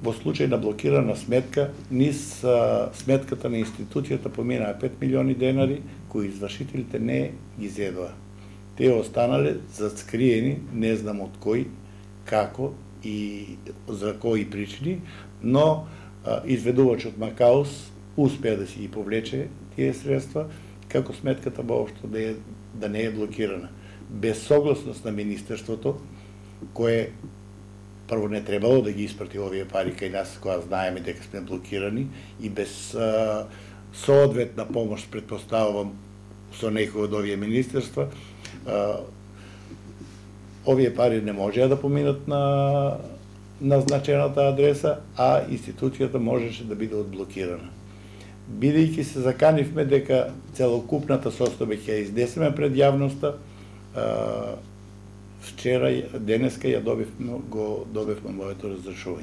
Во случај на блокирана сметка, низ сметката на институцијата поминаа 5 милиони денари, кои извршителите не ги зедоа. Те останале заскриени, не знам од кој, како и за кои причини, но изведувачот Макаус успеа да си ги повлече тие средства, како сметката воопшто да не е блокирана. Без согласност на Министерството, кое прво не требало да ги испрати овие пари кај нас, кога знаеме дека сме блокирани, и без соодветна помош, предпоставувам, со некој од овие министерства, овие пари не можеа да поминат на назначената адреса, а институцијата можеше да биде одблокирана. Бидејќи се заканивме дека целокупната состојба ќе ја изнесеме пред јавноста, вчера, денеска ја добивме моето разрешување.